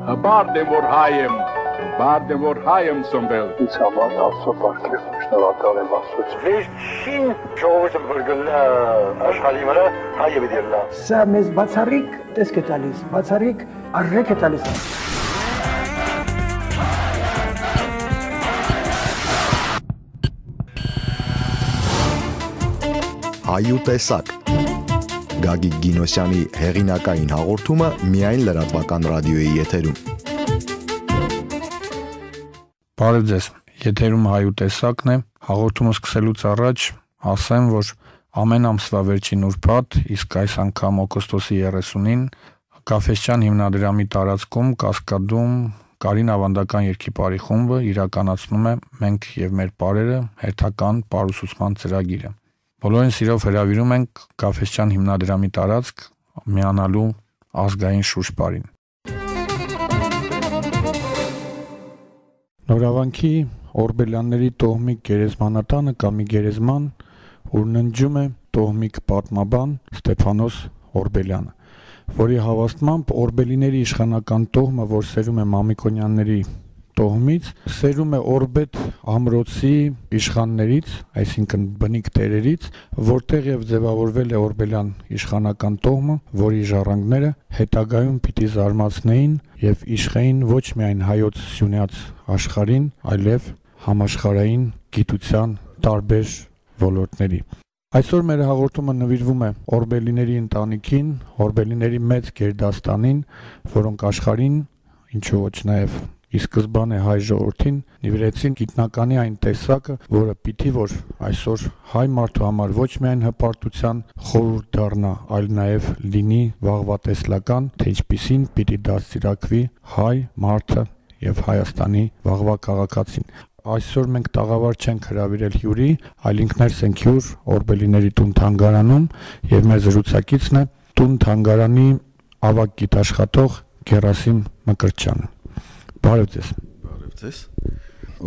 Բարդ եմ որ հայ եմ ծնվել։ Ինձ համար Աստծո բարքեր, շնորհակալ եմ Աստծո։ Վերջին ժողովուրդը բրգլա աշխարհի վրա հայը դերլա։ Սա մեզ բացառիկ տեսք է տալիս, բացառիկ արժեք է տալիս։ Հայուտեսակ Գագիկ Գինոսյանի հեղինակային հաղորդումը միայն լրատվական ռադիոյի եթերում։ Բարև ձեզ, եթերում հայուտեսակն է, հաղորդումը սկսելուց առաջ ասեմ, որ ամեն ամսվա վերջին ուրբաթ, իսկ այս անգամ օգոստոսի 30-ին Գաֆեսյան հիմնադրամի տարածքում Կասկադում Կարին ավանդական երգիպարի խումբը իրականացնում է «Մենք և մեր պարերը» հերթական պարուսուցման ծրագիրը։ Բոլորին սիրով հրավիրում ենք Գաֆեսյան հիմնադրամի տարածք միանալու ազգային շուրջպարին։ Նորավանքի Օրբելյանների տոհմիկ գերեզմանատանը կամ գերեզման, ուր ննջում է տոհմիկ պատմաբան Ստեփանոս Օրբելյանը, որի հավաստմամբ օրբելիների իշխանական տոհմը, որ սերում է Մամիկոնյանների տոհմից, սերում է Օրբետ ամրոցի իշխաններից, այսինքն բնիկ տերերից, որտեղ եւ ձևավորվել է Օրբելյան իշխանական տոհմը, որի ժառանգները հետագայում պիտի զարմացնեին եւ իշխեին ոչ միայն հայոց սյունյաց աշխարհին, այլև համաշխարհային գիտության տարբեր ոլորտների։ Այսօր մեր հաղորդումը նվիրվում է օրբելիների ընտանիքին, օրբելիների մեծ գերդաստանին, որոնք աշխարհին, ինչու ոչ նաեւ ի սկզբանե հայ ժողովրդին նվիրեցին գիտնականի այն տեսակը, որը պիտի որ այսօր հայ մարդու համար ոչ միայն հպարտության խորհուրդ դառնա, այլ նաև լինի վաղվատեսլական, թե ինչպիսին պիտի դաստիարակվի հայ մարդը եւ Հայաստանի վաղվա քաղաքացին։ Այսօր մենք տաղավար չենք հրավիրել հյուրի, այլ ինքներս ենք հյուր օրբելիների տուն-թանգարանում եւ մեր զրուցակիցն է տուն-թանգարանի ավագ գիտաշխատող Գերասիմ Մկրտչյանը։ Բարև ձեզ։ Բարև ձեզ։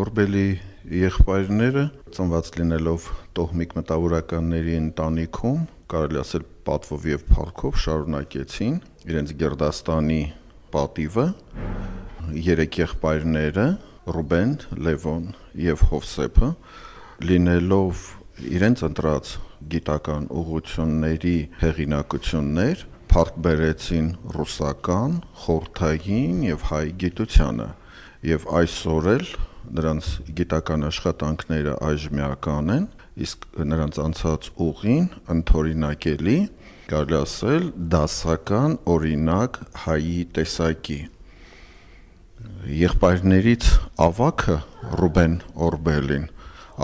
Օրբելի եղբայրները ծնված լինելով տոհմիկ մտավորականների ընտանիքում, կարելի ասել պատվով եւ փառքով շարունակեցին իրենց գերդաստանի պատիվը։ Երեք եղբայրները Ռուբեն, Լևոն եւ Հովսեփը լինելով իրենց ընտրած գիտական ուղղությունների հեղինակություններ փառք բերեցին ռուսական, խորհրդային եւ հայ գիտությանը եւ այսօր էլ նրանց գիտական աշխատանքները այժմեական են, իսկ նրանց անցած ուղին ընդօրինակելի, կարելի ասել դասական օրինակ հայի տեսակի։ Եղբայրներից ավագը Ռուբեն Օրբելին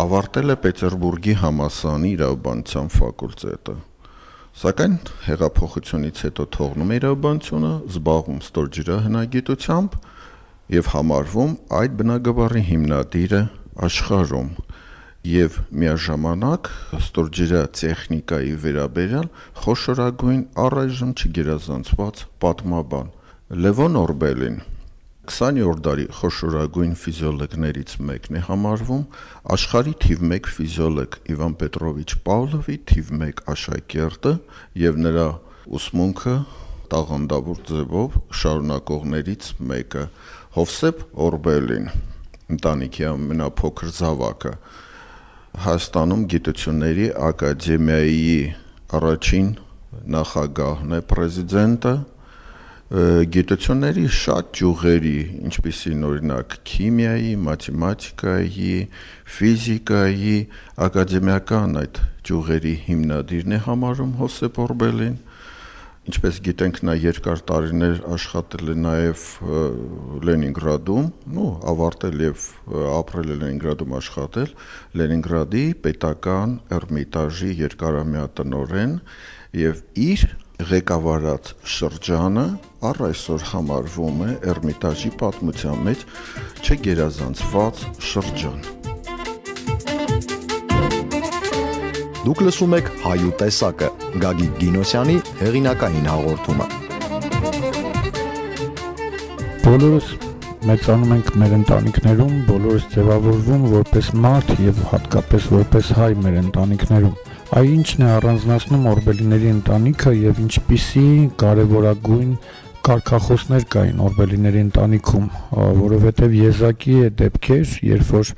ավարտել է Պետերբուրգի համալսարանի իրավաբանության ֆակուլտետը, սակայն հեղափոխությունից հետո թողնում է իրավաբանությունը, զբաղվում ստորջրահնագիտությամբ եւ համարվում այդ բնագավառի հիմնադիրը աշխարհում եւ միաժամանակ ստորջրատեխնիկայի վերաբերյալ խոշորագույն առայժմ չգերազանցված պատմաբան։ Լևոն Օրբելին 20-րդ դարի խոշորագույն ֆիզիոլոգներից մեկն է համարվում, աշխարհի թիվ 1 ֆիզիոլոգ Իվան Պետրովիչ Պավլովի թիվ 1 աշակերտը եւ նրա ուսմունքը տաղանդավոր ձևով շարունակողներից մեկը։ Հովսեփ Օրբելին, ընտանիքի ամենափոքր զավակը, Հայաստանում Գիտությունների ակադեմիայի առաջին նախագահն է, պրեզիդենտը, գիտությունների շատ ճյուղերի, ինչպիսին օրինակ քիմիայի, մաթեմատիկայի, ֆիզիկայի, ակադեմիական այդ ճյուղերի հիմնադիրն է համարում Հովսեփ Օրբելին, ինչպես գիտենք նա երկար տարիներ աշխատել է նաև Լենինգրադում, ավարտել եւ ապրել է Լենինգրադում աշխատել, Լենինգրադի պետական Էրմիտաժի երկարամյա տնօրեն եւ իր ղեկավարած շրջանը առ այսօր համարվում է Էրմիտաժի պատմության մեջ չգերազանցված շրջան։ Դուք լսում եք Հայուտեսակը, Գագիկ Գինոսյանի հեղինակային հաղորդումը։ Բոլորս մեծանում ենք մեր ընտանիքներում, բոլորս ձևավորվում որպես մարդ եւ հատկապես որպես հայ մեր ընտանիքներում։ Այ ինչն է առանձնացնում օրբելիների ընտանիքը եւ ինչպիսի կարևորագույն կարգախոսներ կային օրբելիների ընտանիքում, որովհետև եզակի է դեպքեր, երբ որ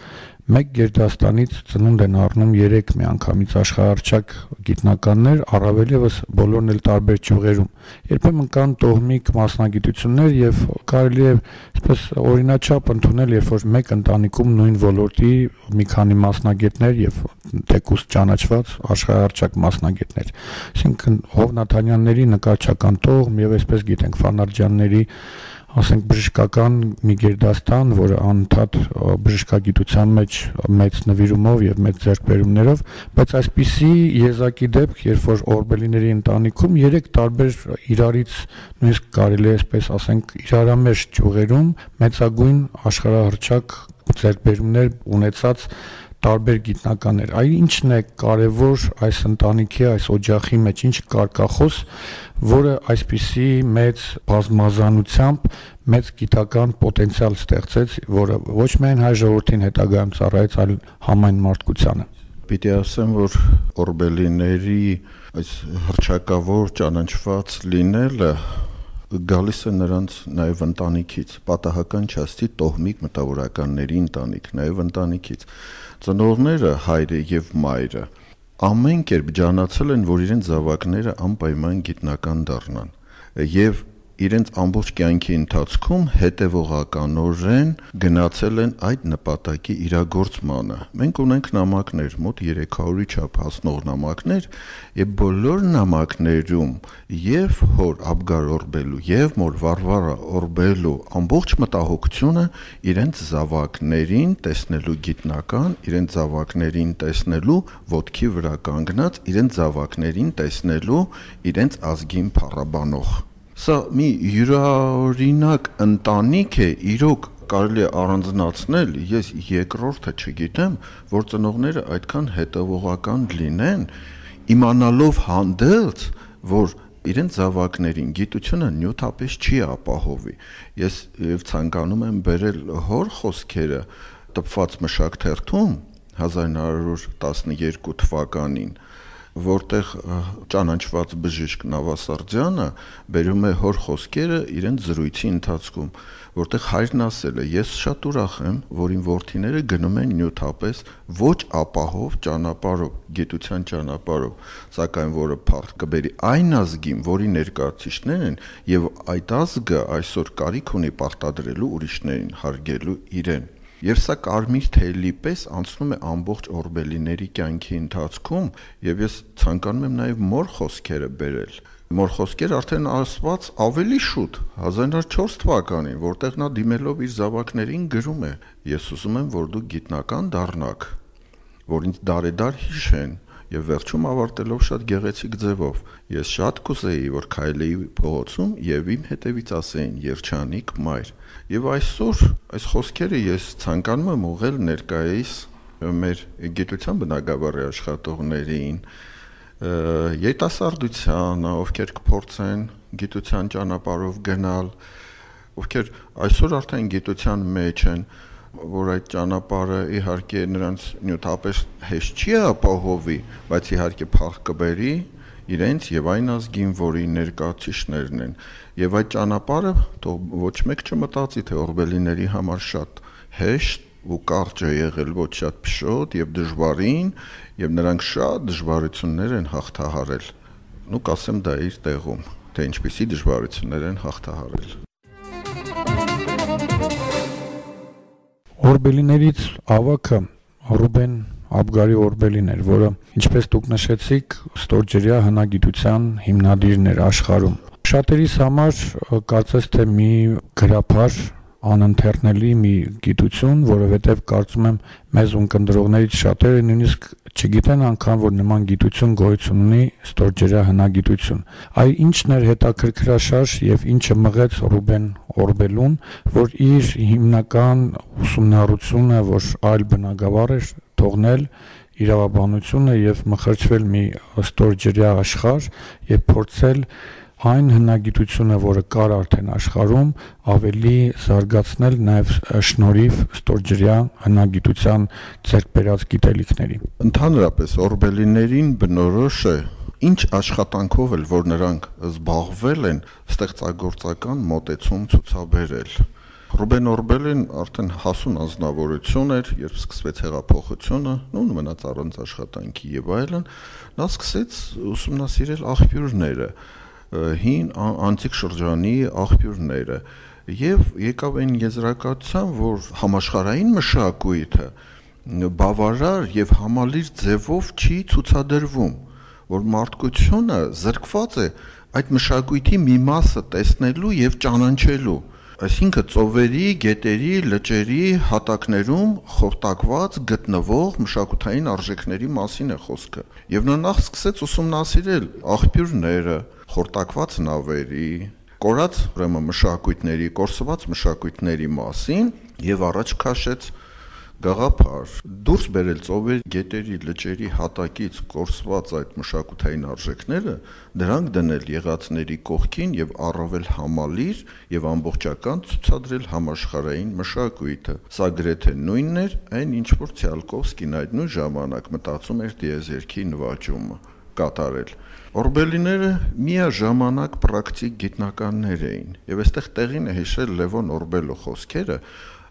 մեկ գերդաստանից ծնունդ են առնում 3 միանգամից աշխարհարչակ գիտնականներ, առավել ևս բոլորն էլ տարբեր ճյուղերում։ Երբեմն կան տոհմիկ մասնագիտություններ եւ կարելի է այսպես օրինաչափ ընդունել, երբ որ մեկ ընտանիքում նույն ոլորտի մի քանի մասնագետներ եւ թեկուզ ճանաչված աշխարհարչակ մասնագետներ։ Այսինքն Հովնաթանյանների նկարչական տոհմ եւ այսպես գիտենք Ֆանարջյանների ասենք բժշկական մի գերդաստան, որը անընդհատ բժշկագիտության մեջ մեծ նվիրումով եւ մեծ ձեռքբերումներով, բայց այսպիսի եզակի դեպք, երբ որ օրբելիների ընտանիքում 3 տարբեր իրարից նույնիսկ կարելի է այսպես ասենք իրարամերժ ճյուղերում մեծագույն աշխարհահռչակ ձեռքբերումներ ունեցած տարբեր գիտնականներ։ Այ ինչն է կարևոր այս ընտանիքի, այս օջախի մեջ, ինչ կարգախոս, որը այսպիսի մեծ բազմազանությամբ մեծ գիտական պոտենցիալ ստեղծեց, որը ոչ միայն հայ ժողովրդին հետագայում ծառայեց, այլ համայն մարդկությանը։ Պիտի ասեմ, որ օրբելիների այս հռչակավոր ճանաչված լինելը գալիս է նրանց նաև ընտանիքից, պատահական չասի տոհմիկ մտավորականների ընտանիք, նաև ընտանիքից։ Ծնողները, հայրը եւ մայրը ամեն կերպ ջանացել են, որ իրենց զավակները անպայման գիտնական դառնան եւ իրենց ամբողջ կյանքի ընթացքում հետևողականորեն գնացել են այդ նպատակի իրագործմանը։ Մենք ունենք նամակներ, մոտ 300-ի չափ հասնող նամակներ, եւ բոլոր նամակներում եւ հոր Աբգար Օրբելու եւ մոր Վարվարա Օրբելու ամբողջ մտահոգությունը իրենց զավակներին տեսնելու գիտնական, իրենց զավակներին տեսնելու ոտքի վրա կանգնած, իրենց զավակներին տեսնելու իրենց ազգին փառաբանող։ Սա մի յուրօրինակ ընտանիք է, իրոք կարելի է առանձնացնել, ես երկրորդը չգիտեմ, որ ծնողները այդքան հետևողական լինեն, իմանալով հանդերձ, որ իրենց զավակներին գիտությունը նյութապես չի ապահովի։ Ես եւ ցանկանում եմ բերել հոր խոսքերը տպված մշակթերթում 1912 թվականին, որտեղ ճանաչված բժիշկ Նավասարդյանը բերում է հոր խոսքերը իրենց զրույցի ընթացքում, որտեղ հայրն ասել է. ես շատ ուրախ եմ, որ իմ որդիները գնում են նյութապես ոչ ապահով ճանապարհով, գիտության ճանապարհով, սակայն որը փառք կբերի այն ազգին, որի ներկայացուցիչներն են, եւ այդ ազգը այսօր կարիք ունի պարտադրելու ուրիշներին, հարգելու իրեն։ Եվ սա կարմիր թելի պես անցնում է ամբողջ օրբելիների կյանքի ընթացքում, եւ ես ցանկանում եմ նաեւ մոր խոսքերը բերել։ Մոր խոսքեր արդեն ասված ավելի շուտ 1904 թվականին, որտեղ նա դիմելով իր զավակներին գրում է. ես ուզում եմ, որ դուք գիտնական դառնաք, որ ինձ դարեդար հիշեն, եւ վերջում ավարտելով շատ գեղեցիկ ձևով. ես շատ կուզեի, որ քայլեի փողոցում եւ իմ հետևից ասեին երջանիկ մայր։ Եվ այսօր այս խոսքերը ես ցանկանում եմ ուղղել ներկայիս մեր գիտության բնագավառի աշխատողներին, երիտասարդությանը, ովքեր կփորձեն գիտության ճանապարհով գնալ, ովքեր այսօր արդեն գիտության մեջ են, որ այդ ճանապարհը իհարկե նրանց նյութապես հեշտ չի ապահովի, բայց իհարկե փառք կբերի իրենց եւ այն ազգին, որի ներկայացուցիչներն են, եւ այդ ճանապարհը թող ոչ մեկ չմտածի, թե օրբելիների համար շատ հեշտ ու կարճ է եղել, ոչ շատ փշոտ եւ դժվարին, եւ նրանք շատ դժվարություններ են հաղթահարել։ Ու կասեմ դա իր տեղում, թե ինչպիսի դժվարություններ են հաղթահարել։ Օրբելիներից ավագը Ռուբեն Աբգարի Օրբելին էր, որը, ինչպես դուք նշեցիք, ստորջրյա հնագիտության հիմնադիրն էր աշխարհում։ Շատերիս համար կարծես թե մի գրաբար անընթերնելի մի գիտություն, որովհետև կարծում եմ մեզ ունկնդրողներից շատերը նույնիսկ չգիտեն անգամ, որ նման գիտություն գոյություն ունի ստորջրյա հնագիտություն։ Այ ինչն էր հետաքրքրաշարժ եւ ինչը մղեց Ռուբեն Օրբելուն, որ իր հիմնական ուսումնառությունը, որ այլ բնագավառ էր թողնել իրավաբանությունը եւ մխրճվել մի ստորջրյա աշխարհ եւ փորձել այն հնագիտությունը, որը կար արդեն աշխարհում, ավելի զարգացնել նաև շնորհիվ ստորջրյա հնագիտության ձեռք բերած գիտելիքների։ Ընդհանրապես օրբելիներին բնորոշ է ինչ աշխատանքով էլ որ նրանք զբաղվել են, ստեղծագործական մոտեցում ցուցաբերել։ Ռուբեն Օրբելին արդեն հասուն անձնավորություն էր, երբ սկսվեց հեղափոխությունը, մնաց առանց աշխատանքի եւ այլն, նա սկսեց ուսումնասիրել աղբյուրները, հին անտիկ շրջանի աղբյուրները եւ եկավ այն եզրակացության, որ համաշխարհային մշակույթը բավարար եւ համալիր ձևով չի ցուցադրվում, որ մարդկությունը զրկված է այդ մշակույթի մի մասը տեսնելու եւ ճանաչելու, այսինքն ծովերի, գետերի, լճերի հատակներում խորտակված գտնվող մշակութային արժեքների մասին է խոսքը։ Եվ նա նախ սկսեց ուսումնասիրել աղբյուրները, խորտակված նավերի, կորած ուրեմն մշակույթների, կորսված մշակույթների մասին եւ առաջ քաշեց գաղափար դուրս բերել ծովերի, գետերի, լճերի հատակից կորսված այդ մշակութային արժեքները, դրանք դնել եղածների կողքին եւ առավել համալիր եւ ամբողջական ցուցադրել համաշխարհային մշակույթը։ Սա գրեթե նույնն էր, այն ինչ որ Ցիալկովսկին այդ նույն ժամանակ մտածում էր դիեզերքի նվաճումը կատարել։ Օրբելիները միաժամանակ պրակտիկ գիտնականներ էին եւ այստեղ տեղին է հիշել Լևոն Օրբելո խոսքերը,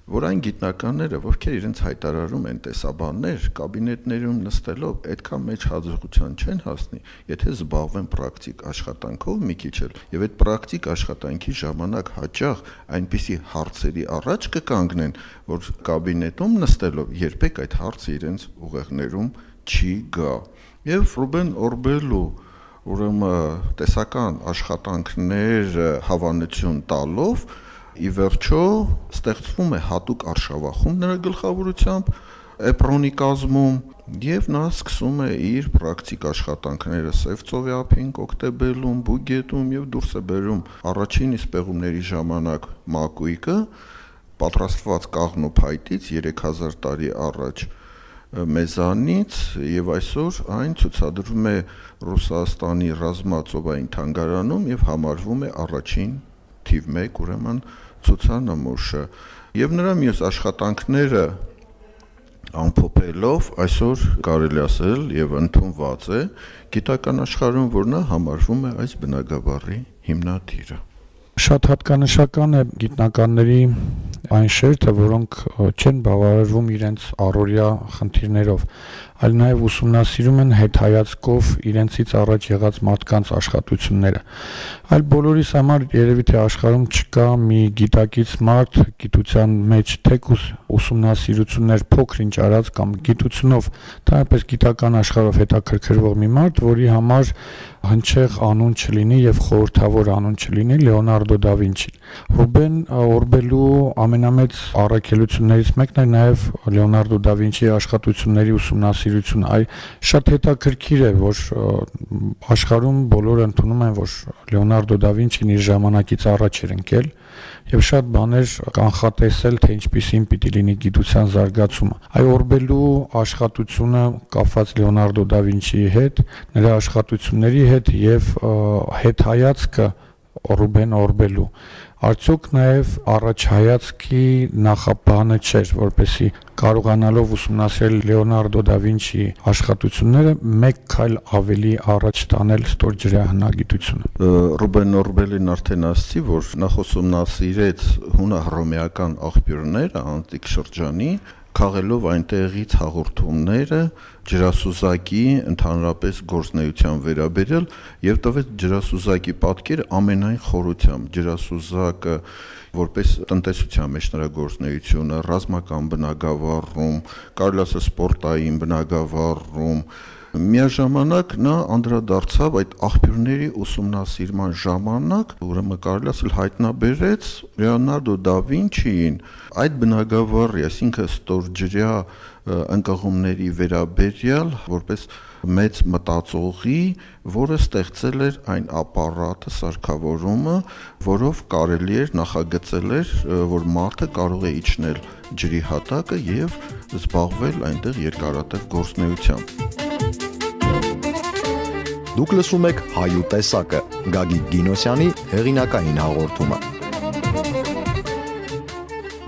որ այն գիտնականները, ովքեր իրենց հայտարարում են տեսաբաններ, կաբինետներում նստելով այդքան մեծ հաջողության չեն հասնի, եթե զբաղվեն պրակտիկ աշխատանքով մի քիչ էլ, եւ այդ պրակտիկ աշխատանքի ժամանակ հաճախ այնպիսի հարցերի առաջ կկանգնեն, որ կաբինետում նստելով երբեք այդ հարցը իրենց ուղեղներում չի գա։ Եվ Ռուբեն Օրբելու ուրեմն տեսական աշխատանքներ հավանություն տալով ի վերջո ստեղծվում է հատուկ արշավախումբ նրա գլխավորությամբ Էպրոնի կազմում եւ նա սկսում է իր պրակտիկ աշխատանքները Սևծովի ափին, Կոկտեբելում, Բուգետում եւ դուրս է բերում առաջին իսկ պեղումների ժամանակ մակույկը պատրաստված կաղնու փայտից 3000 տարի առաջ մեզանից եւ այսօր այն ցուցադրվում է Ռուսաստանի ռազմածովային թանգարանում եւ համարվում է առաջին թիվ 1 ուրեմն ցուցանմուշը եւ նրա մյուս աշխատանքները ամփոփելով այսօր կարելի ասել եւ ընդունված է գիտական աշխարհում, որ նա համարվում է այս բնագավառի հիմնադիրը։ Շատ հատկանշական է գիտնականների այն շերտը, որոնք չեն բավարարվում իրենց առօրյա խնդիրներով, այլ նաև ուսումնասիրում են հետհայացքով իրենցից առաջ եղած մարդկանց աշխատությունները։ Այլ բոլորիս համար երևի թե աշխարհում չկա մի գիտակից մարդ գիտության մեջ թեկուզ ուսումնասիրություններ փոքր-ինչ արած կամ գիտությունով, դրանպես գիտական աշխարհով հետաքրքրվող մի մարդ, որի համար հնչեղ անուն չլինի եւ խորհրդավոր անուն չլինի Լեոնարդո դա Վինչին։ Ռուբեն Օրբելու ամենամեծ առաքելություններից մեկն է նաեւ Լեոնարդո դա Վինչիի աշխատությունների ուսումնասիրությունը։ Այ շատ հետաքրքիր է, որ աշխարհում բոլորը ընդունում են, որ Լեոնարդո դա Վինչին իր ժամանակից առաջ էր ընկել եւ շատ բաներ կանխատեսել, թե ինչպիսին պիտի լինի գիտության զարգացումը։ Այ Օրբելու աշխատությունը կապված Լեոնարդո դա Վինչիի հետ, նրա աշխատությունների հետ եւ հետհայացքը Ռուբեն Օրբելու արդյոք նաև առաջհայացքի նախաբանը չէր, որպեսզի կարողանալով ուսումնասիրել Լեոնարդո դա Վինչիի աշխատությունները մեկ քայլ ավելի առաջ տանել ստորջրյա հնագիտությունը։ Ռուբեն Օրբելին արդեն ասացի, որ նախ ուսումնասիրեց հունահռոմեական աղբյուրները անտիկ շրջանի, քաղելով այնտեղից հաղորդումները ջրասուզակի ընդհանրապես գործնեության վերաբերյալ եւ տվեց ջրասուզակի պատկերը ամենայն խորությամբ։ Ջրասուզակը որպես տնտեսության մեջ նրա գործնեությունը, ռազմական բնագավառում, կարելի ասել սպորտային բնագավառում, միաժամանակ նա անդրադարձավ այդ աղբյուրների ուսումնասիրման ժամանակ, ուրեմն կարելի ասել հայտնաբերեց Լեոնարդո դա Վինչիին այդ բնագավառի, այսինքն ստորջրյա ընկղումների վերաբերյալ որպես մեծ մտածողի, որը ստեղծել էր այն ապարատը, սարքավորումը, որով կարելի էր նախագծել էր, որ մարդը կարող է իջնել ջրի հատակը եւ զբաղվել այնտեղ երկարատև գործնեությամբ։ Դուք լսում եք Հայու տեսակը, Գագիկ Գինոսյանի հեղինակային հաղորդումը։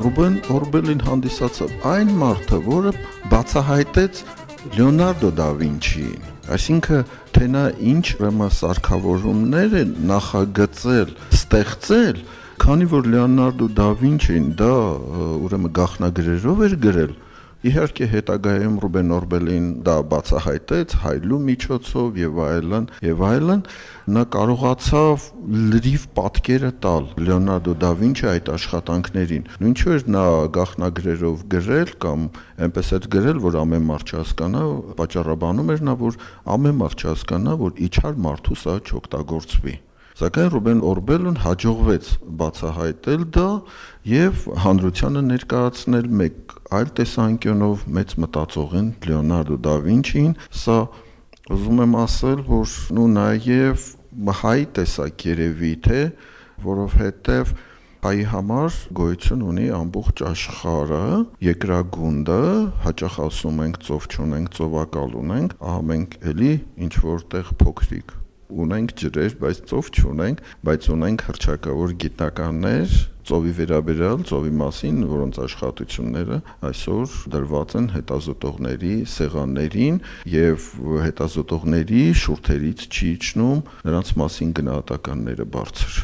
Ռուբեն Օրբելին հանդիսացավ այն մարդը, որը բացահայտեց Լեոնարդո դա Վինչիին, այսինքն թե նա ինչ ուրեմն սարքավորումներ է նախագծել, ստեղծել, քանի որ Լեոնարդո դա Վինչին դա ուրեմն գաղտնագրերով էր գրել։ Իհարկե հետագայում Ռուբեն Օրբելին դա բացահայտեց հայլու միջոցով եւ այլն, նա կարողացավ լրիվ պատկերը տալ Լեոնարդո դա Վինչի այդ աշխատանքներին։ Ինչու էր նա գաղտնագրերով գրել կամ այնպես էր գրել, որ ամեն մարդ չհասկանա, պատճառաբանում էր նա, որ ամեն մարդ չհասկանա, որ իջար մարդու սա չօգտագործվի։ Սակայն Ռուբեն Օրբելն հաջողվեց բացահայտել դա եւ հանրությանը ներկայացնել մեկ այլ տեսանկյունով մեծ մտածողին Լեոնարդո դա Վինչին, սա ուզում եմ ասել, որ նաեւ հայ տեսակ երևի թե, որովհետեւ հայի համար գոյություն ունի ամբողջ աշխարհը, երկրագունդը, հաճախ ասում ենք ծով չունենք, ծովակալ ունենք, ահա մենք էլի ինչ որտեղ փոքրիկ ունենք ջրեր, բայց ծով չունենք, բայց ունենք հռչակավոր գիտնականներ ծովի վերաբերյալ, ծովի մասին, որոնց աշխատությունները այսօր դրված են հետազոտողների սեղաններին եւ հետազոտողների շուրթերից չի իջնում նրանց մասին գնահատականները բարձր։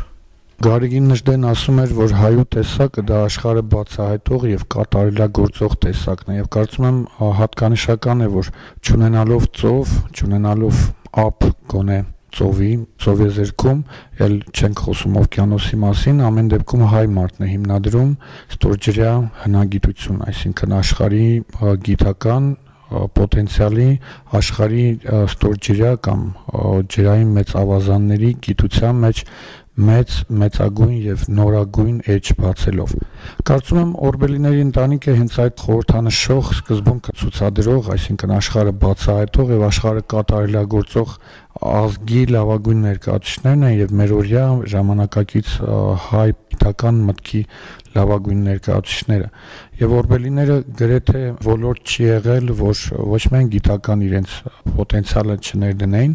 Գարեգին Նժդեն ասում էր, որ հայու տեսակը դա աշխարհը բացահայտող եւ կատարելագործող տեսակն է եւ կարծում եմ հատկանշական է, որ չունենալով ծով, չունենալով ափ գոնե ծովեզերքում, ել չենք խոսում օվկիանոսի մասին, ամեն դեպքում հայ մարդն է հիմնադրում ստորջրյա հնագիտություն, այսինքն աշխարհի գիտական պոտենցիալի, աշխարհի ստորջրյա կամ ջրային մեծ ավազանների գիտության մեջ մեծագույն եւ նորագույն էջ բացելով։ Կարծում եմ Օրբելիների ընտանիքը հենց այդ խորհրդանշող սկզբունքը ցուցադրող, այսինքն աշխարհը բացահայտող եւ աշխարհը կատարելագործող ազգի լավագույն ներկայացուցիչներն են եւ մերօրյա ժամանակակից հայ գիտական մտքի լավագույն ներկայացուցիչները եւ Օրբելիները գրեթե ոլորտ չի եղել, որ ոչ միայն գիտական իրենց պոտենցիալը չներդնեին,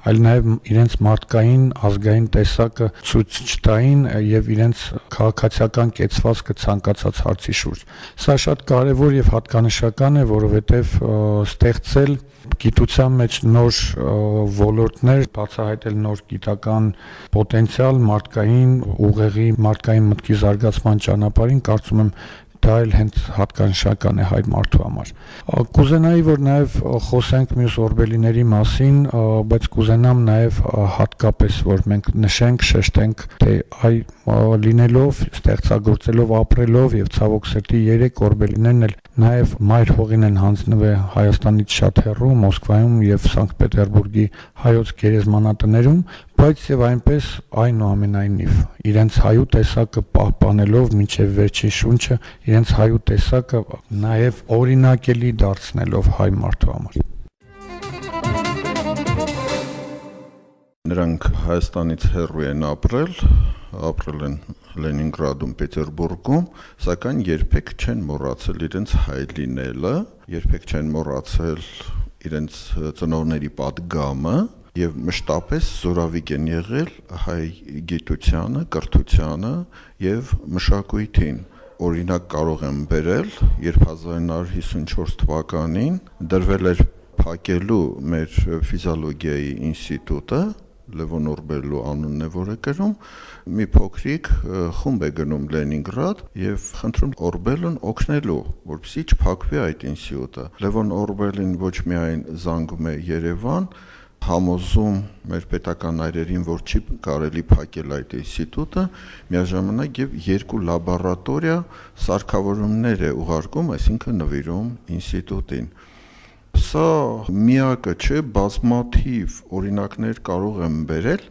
այլ նաեւ իրենց մարդկային ազգային տեսակը ցույց չտային եւ իրենց քաղաքացիական կեցվածքը ցանկացած հարցի շուրջ։ Սա շատ կարեւոր եւ հատկանշական է, որովհետեւ ստեղծել գիտության մեջ նոր ոլորտներ, բացահայտել նոր գիտական պոտենցիալ մարդկային ուղեղի, մարդկային մտքի զարգացման ճանապարհին, կարծում եմ դա էլ հենց հատկանշական է հայ մարդու համար։ Կուզենայի, որ նաև խոսենք մյուս օրբելիների մասին, բայց կուզենամ նաև հատկապես, որ մենք նշենք, շեշտենք, թե այ լինելով, ստեղծագործելով, ապրելով եւ ցավոք սրտի 3 օրբելիներն էլ նաև մայր հողին են հանձնվել Հայաստանից շատ հեռու, Մոսկվայում եւ Սանկտ Պետերբուրգի հայոց գերեզմանատներում, բայց եւ այնպես այնուամենայնիվ իրենց հայու տեսակը պահպանելով մինչեւ վերջին շունչը, իրենց հայու տեսակը նաև օրինակելի դարձնելով հայ մարդու համար։ Նրանք Հայաստանից հեռու են ապրել են Լենինգրադում, Պետերբուրգում, սակայն երբեք չեն մոռացել իրենց հայ լինելը, երբեք չեն մոռացել իրենց ծնողների պատգամը եւ մշտապես զորավիք են եղել հայ գիտությանը, կրթությանը եւ մշակույթին։ Օրինակ կարող եմ բերել, երբ 1954 թվականին դրվել էր փակելու մեր ֆիզիոլոգիայի ինստիտուտը, Լևոն Օրբելու անունն է որը կրում, մի փոքրիկ խումբ է գնում Լենինգրադ եւ խնդրում Օրբելուն օգնելու, որպեսզի չփակվի այդ ինստիտուտը։ Լևոն Օրբելին ոչ միայն զանգում է Երևան, համոզում մեր պետական այրերին, որ չի կարելի փակել այդ ինստիտուտը, միաժամանակ եւ 2 լաբորատորիա սարքավորումներ է ուղարկում, այսինքն նվիրում ինստիտուտին։ Սա միակը չէ, բազմաթիվ օրինակներ կարող եմ բերել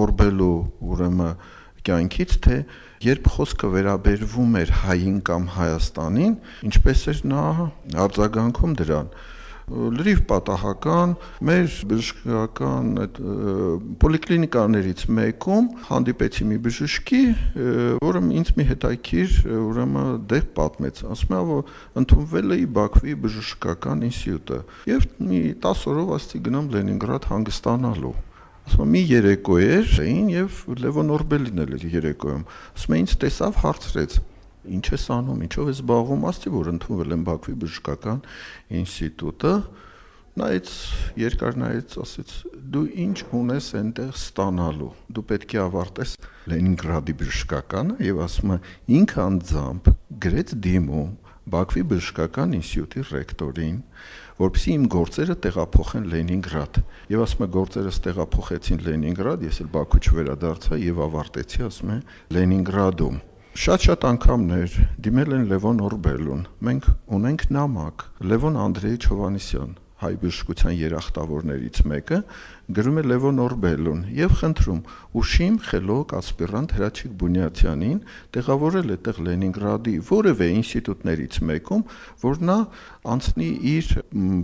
Օրբելու ուրեմն կյանքից, թե երբ խոսքը վերաբերվում էր հային կամ Հայաստանին, ինչպես էր նա արձագանքում դրան։ Լրիվ պատահական մեր բժշկական պոլիկլինիկաներից մեկում հանդիպեցի մի բժշկի, որը ինձ մի հետաքրքիր ուրեմն դեպք պատմեց, ասում է, որ ընդունվել էի Բաքվի բժշկական ինստիտուտը եւ մի 10 օրով ասեցի գնամ Լենինգրադ հանգստանալու։ Ասում մի երեկո էր եւ Լևոն Օրբելին էլ երեկոյում։ Ասում ինձ տեսավ, հարցրեց. Ինչ ես անում, ինչով ես զբաղվում, ասեցի, որ ընդունվել եմ Բաքվի բժշկական ինստիտուտը, նայեց երկար նայեց, ասեց դու ինչ ունես այնտեղ ստանալու, դու պետք է ավարտես Լենինգրադի բժշկականը եւ ասում է ինքը անձամբ գրեց դիմում Բաքվի բժշկական ինստիտուտի ռեկտորին, որպեսզի իմ գործերը տեղափոխեն Լենինգրադ։ Եվ ասում է գործերս տեղափոխեցին Լենինգրադ, ես էլ Բաքու չվերադարձա եւ ավարտեցի, ասում է Լենինգրադում։ Շատ անգամներ դիմել են Լևոն Օրբելուն։ Մենք ունենք նամակ Լևոն Անդրեյիչ Հովհաննիսյան, հայ բժշկության երախտավորներից մեկը, գրում է Լևոն Օրբելուն եւ խնդրում ուշիմ խելոք ասպիրանտ Հրաչիկ Բունյացյանին տեղավորել այդտեղ Լենինգրադի որևէ ինստիտուտներից մեկում, որ նա անցնի իր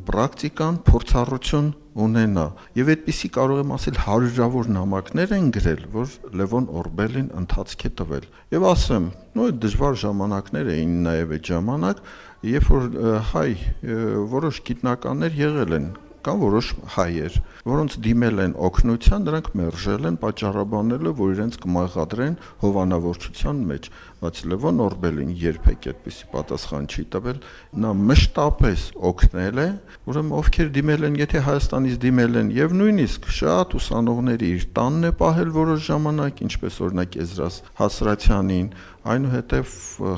պրակտիկան, փորձառություն ունենա։ Եվ այդպիսի կարող եմ ասել հարյուրավոր նամակներ են գրել, որ Լևոն Օրբելին ընթացք է տվել։ Եվ ասեմ, նույն դժվար ժամանակներ էին նաև այդ ժամանակ, երբ որ հայ որոշ գիտնականներ եղել են կամ որոշ հայեր, որոնց դիմել են օգնության, նրանք մերժել են, պատճառաբանելով, որ իրենց կմեղադրեն հովանավորչության մեջ, բայց Լևոն Օրբելին երբեք այդպիսի պատասխան չի տվել, նա մշտապես օգնել է, ուրեմն ովքեր դիմել են, եթե Հայաստանից դիմել են, եւ նույնիսկ շատ ուսանողների իր տանն է պահել որոշ ժամանակ, ինչպես օրինակ Եզրաս Հասրացյանին, այնուհետև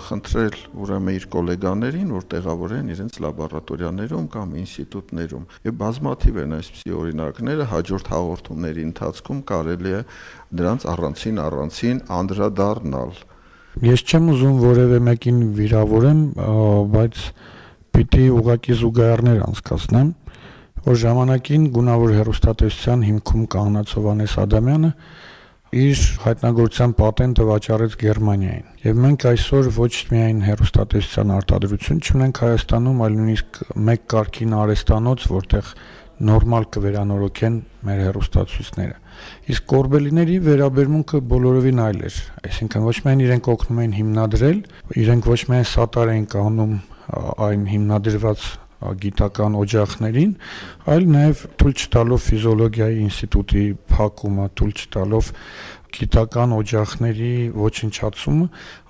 խնդրել ուրեմն իր գոլեգաներին, որ տեղավորեն իրենց լաբորատորիաներում կամ ինստիտուտներում։ Եվ բազմաթիվ են այսպիսի օրինակները, հաջորդ հաղորդումների ընթացքում կարելի է դրանց առանցին անդրադառնալ։ Ես չեմ ուզում որևէ մեկին վիրավորեմ, բայց պիտի ուղղակի զուգահեռներ անցկացնեմ, որ ժամանակին գունավոր հեռուստատեսության հիմքում կանգնած Հովհաննես Ադամյանը իր հայտնագործության պատենտը վաճառեց Գերմանիային։ Եվ մենք այսօր ոչ միայն հեռուստատեսության արտադրություն չունենք Հայաստանում, այլ նույնիսկ մեկ կարգին արհեստանոց, որտեղ նորմալ կվերանորոգեն մեր հեռուստացույցները։ Իսկ Օրբելիների վերաբերմունքը բոլորովին այլ էր, այսինքն ոչ միայն իրենք օգնում էին հիմնադրել, իրենք ոչ միայն սատար էին կանում այն հիմնադրված գիտական օջախներին, այլ նաև թույլ չտալով ֆիզիոլոգիայի ինստիտուտի փակումը, թույլ չտալով գիտական օջախների ոչնչացումը,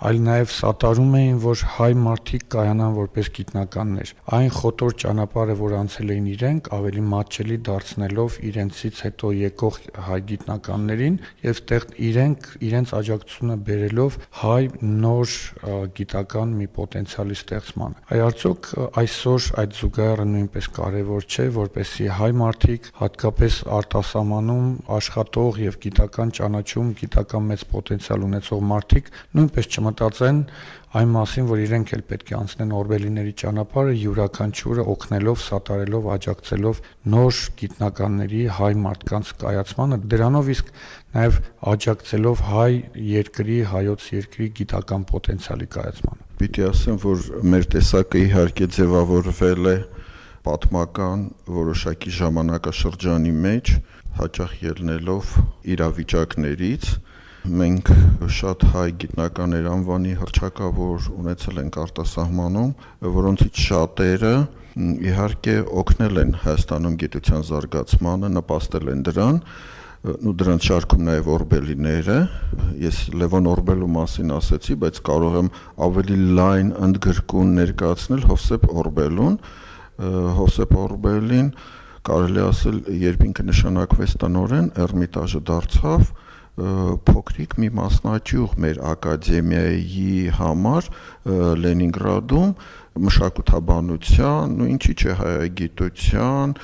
այլ նաև սատարում էին, որ հայ մարդիկ կայանան որպես գիտնականներ։ Այն խոտոր ճանապարհը, որ անցել էին իրենք, ավելի մատչելի դարձնելով իրենցից հետո եկող հայ գիտնականներին եւ տեղ իրենց աջակցությունը բերելով հայ նոր գիտական մի պոտենցիալի ստեղծմանը։ Այ արդյոք այսօր այդ զուգահեռը նույնպես կարևոր չէ, որպեսզի հայ մարդիկ, հատկապես արտասահմանում աշխատող եւ գիտական ճանաչում գիտական մեծ պոտենցիալ ունեցող մարդիկ նույնպես չմտածեն այն մասին, որ իրենք էլ պետք է անցնեն Օրբելիների ճանապարհը յուրաքանչյուրը օգնելով, սատարելով, աջակցելով նոր գիտնականների հայ մարդկանց կայացմանը, դրանով իսկ նաև աջակցելով հայ երկրի, հայոց երկրի գիտական պոտենցիալի կայացմանը։ Պիտի ասեմ, որ մեր տեսակը իհարկե ձևավորվել է պատմական որոշակի ժամանակաշրջանի մեջ, հաճախ ելնելով իրավիճակներից։ Մենք շատ հայ գիտնականներ անվանի հռչակավոր ունեցել ենք արտասահմանում, որոնցից շատերը իհարկե օգնել են Հայաստանում գիտության զարգացմանը, նպաստել են դրան, ու դրանց շարքում նաև Օրբելիները։ Ես Լևոն Օրբելու մասին ասեցի, բայց կարող եմ ավելի լայն ընդգրկուն ներկայացնել Հովսեփ Օրբելուն։ Հովսեփ Օրբելին կարելի ասել, երբ ինքը նշանակվեց տնօրեն, Էրմիտաժը դարձավ փոքրիկ մի մասնաճյուղ մեր ակադեմիայի համար Լենինգրադում մշակութաբանության, ու ինչի՞ չէ հայագիտության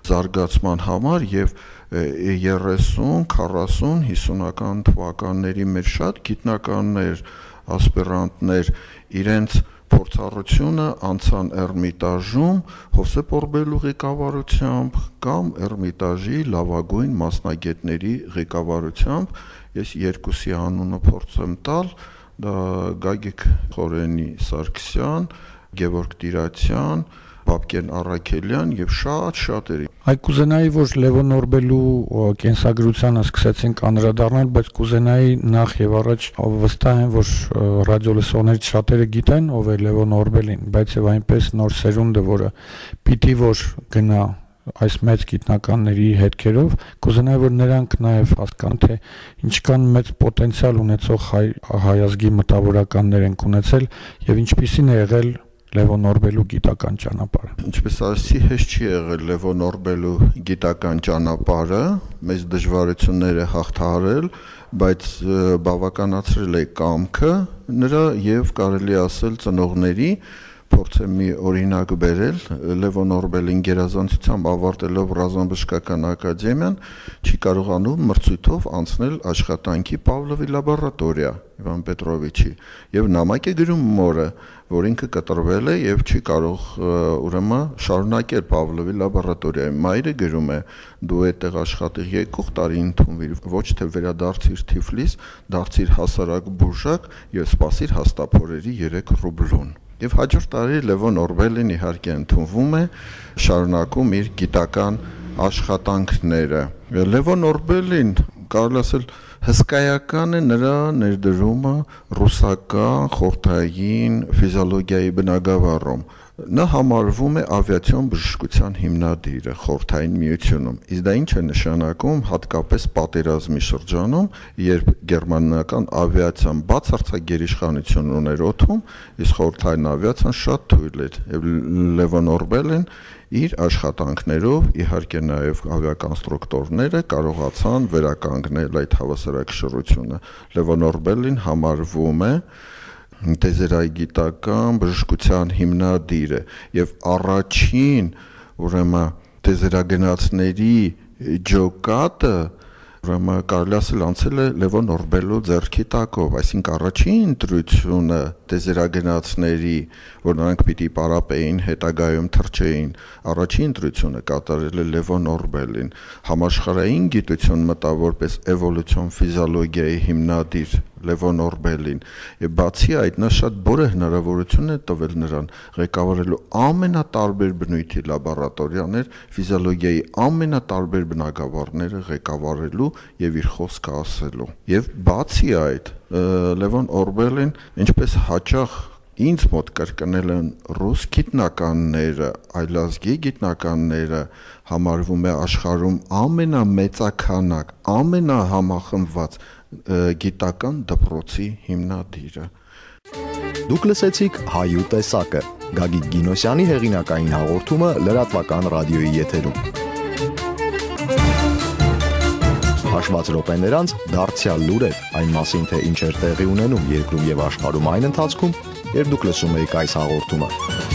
զարգացման համար եւ 30, 40, 50-ական թվականների մեր շատ գիտնականներ, ասպիրանտներ իրենց փորձառությունը անցան Էրմիտաժում Հովսեփ Օրբելու ղեկավարությամբ կամ Էրմիտաժի լավագույն մասնագետների ղեկավարությամբ։ Ես երկուսի անունը փորձեմ տալ, դա Գագիկ Խորենի Սարգսյան, Գևորգ Տիրացյան, Բաբկեն Առաքելյան եւ շատերի։ Այ կուզենայի, որ Լևոն Օրբելու կենսագրությանը սկսեցինք անդրադառնալ, բայց կուզենայի նախ եւ առաջ վստահ եմ, որ ռադիոլսողներից շատերը գիտեն ով է Լևոն Օրբելին, բայց եւ այնպես նոր սերունդը, որը պիտի որ գնա այս մեծ գիտնականների հետքերով, կուզենայի, որ նրանք նաև հասկանան, թե ինչքան մեծ պոտենցիալ ունեցող հայ ազգի մտավորականներ են ունեցել եւ ինչպիսին է եղել Լևոն Օրբելու գիտական ճանապարհը։ Ինչպես ասեցի, հեշտ չի եղել Լևոն Օրբելու գիտական ճանապարհը, մեծ դժվարություններ է հաղթահարել, բայց բավականացրել է կամքը նրա եւ կարելի ասել ծնողների փորձեմ մի օրինակ բերել Լևոն Օրբելին գերազանցությամբ ավարտելով ռազմաբժշկական ակադեմիան չի կարողանում մրցույթով անցնել աշխատանքի Պավլովի լաբորատորիա Իվան Պետրովիչի եւ նամակ է գրում մորը որ ինքը կտրվել է եւ չի կարող ուրեմն շարունակել Պավլովի լաբորատորիայում մայրը գրում է դու այդտեղ աշխատիր եկող տարի ընդունվիր ոչ թե վերադարձիր Թիֆլիս դարձիր հասարակ բուժակ եւ սպասիր հաստափորերի 3 ռուբլուն Եվ հաջորդ տարի Լևոն Օրբելին իհարկե ընդունվում է, շարունակում իր գիտական աշխատանքները։ Լևոն Օրբելին, կարելի ասել, հսկայական է նրա ներդրումը ռուսական խորհրդային ֆիզիոլոգիայի բնագավառում։ Նա համարվում է ավիացիոն բժշկության հիմնադիրը խորհրդային միությունում։ Իսկ դա ինչ է նշանակում հատկապես պատերազմի շրջանում, երբ գերմանական ավիացիան բացարձակ գերիշխանություն ուներ օդում, իսկ խորհրդային ավիացիան շատ թույլ էր։ Եվ Լևոն Օրբելին իր աշխատանքներով, իհարկե նաև ավիակոնստրուկտորները կարողացան վերականգնել այդ հավասարակշռությունը։ Լևոն Օրբելին համարվում է տեզերագիտական բժշկության հիմնադիրը եւ առաջին ուրեմն տեզերագնացների ջոկատը ուրեմն կարելի ասել անցել է Լևոն Օրբելու ձեռքի տակով, այսինքն առաջին ընտրությունը տեզերագնացների, որ նրանք պիտի պարապեին, հետագայում թռչեին, առաջին ընտրությունը կատարել է Լևոն Օրբելին, համաշխարհային գիտություն մտավ որպես էվոլյուցիոն ֆիզիոլոգիայի հիմնադիր Լևոն Օրբելին, եւ բացի այդ նա շատ բուրը հնարավորություն է տվել նրան ղեկավարելու ամենատարբեր բնույթի լաբորատորիաներ, ֆիզիոլոգիայի ամենատարբեր բնագավառները ղեկավարելու եւ իր խոսքը ասելու։ Եվ բացի այդ Լևոն Օրբելին ինչպես հաճախ ինձ մոտ կրկնել են ռուս գիտնականները, այլազգի գիտնականները համարվում է աշխարհում ամենամեծաքանակ, ամենահամախմբված գիտական դպրոցի հիմնադիրը։ Դուք լսեցիք Հայու տեսակը, Գագիկ Գինոսյանի հեղինակային հաղորդումը լրատվական ռադիոյի եթերում։ Հաշված րոպեներ անց դարձյալ լուրեր այն մասին, թե ինչ էր տեղի ունենում երկրում եւ աշխարհում այն ընթացքում, երբ դուք լսում եք այս հաղորդումը։